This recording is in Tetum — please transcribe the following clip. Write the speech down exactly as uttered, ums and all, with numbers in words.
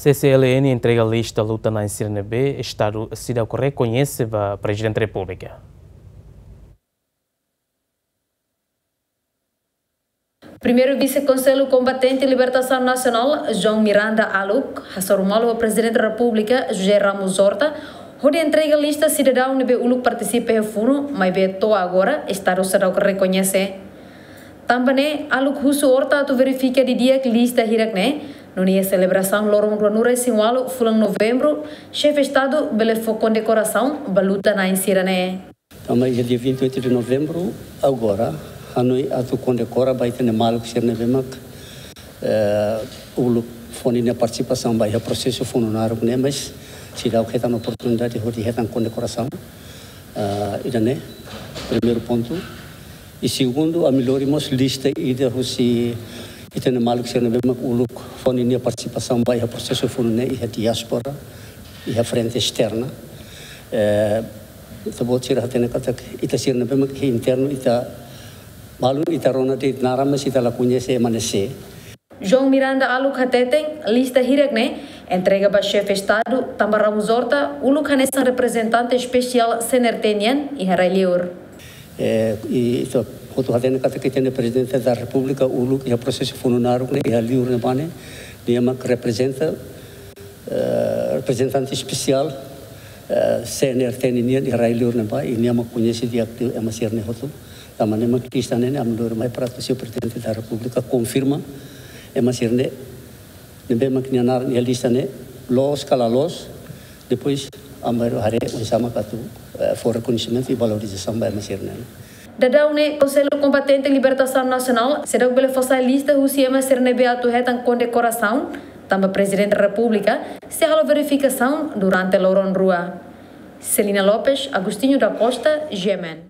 C C L N entrega lista luta-na'in sira ne'ebé Estadu seidauk rekoñese ba Prezidente Repúblika. Primeiru Vise Konsellu Kombatente Libertasaun Nasionál, João Miranda Aluk, hasoru malu ho Prezidente Repúblika, José Ramos Horta, hodi entrega lista sidadaun ne'ebé uluk partisipa iha funu, maibé to'o agora Estadu seidauk rekoñese. Tanba ne'e, Aluk husu Horta atu verifika didi'ak lista hirak ne'e, nune'e selebrasaun loron ruanulu-resin-ualu fulan Novembru, Xefe Estadu bele fó kondekorasaun ba luta-na'in sira ne'e. Tanba iha dia vinte e oito de novembro, agora, hanoin atu kondekora ba ita-nia maluk sira ne'ebé mak, eh, uluk fó ninia partisipasaun ba iha prosesu funu naruk ne'e, mas seidauk hetan oportunidade hodi hetan kondekorasaun. Ah, ida-ne'e, primeiru pontu. I segundu, ami lori mós lista ida husi ita-nia maluk sira ne'ebé mak uluk fó ninia partisipasaun ba iha prosesu funu ne'e iha diáspora, iha frente esterna. Eh, ita-boot sira hatene katak ita sira ne'ebé mak iha internu ita balun ita rona de'it naran mas ita la koñese ema ne'e sé. João Miranda Aluk hateten, lista hirak ne'e entrega ba Xefe Estadu, tanba Ramos Horta uluk hanesan reprezentante espesiál C N R T nian iha rai-liur. Eh, i ita hotu hatene katak ita-nia Prezidente da Repúblika uluk iha prosesu funu naruk ne'e iha liur ne'ebá ne'e, nia mak reprezenta, eh, reprezentante espesiál, eh, C N R T nian iha rai-liur ne'ebá, i nia mak koñese di'ak liu ema sira-ne'e hotu. Tanba ne'e mak lista ne'e, ne'e ami lori mai para atu Señór Prezidente da Repúblika konfirma ema sira-ne'e, ne'ebé mak nia naran iha lista ne'e, loos ka la loos, depois ami haree oinsá mak atu, eh, fó rekoñesimentu i valorizasaun ba ema sira-ne'e. Daudaun ne'e, Konsellu Kombatente Libertasaun Nasionál seidauk bele fó sai lista husi ema sira ne'ebé atu hetan kondekorasaun, tanba Prezidente Repúblika sei halo verifikasaun durante loron rua. Celina Lopes, Agostinho da Costa, G M N.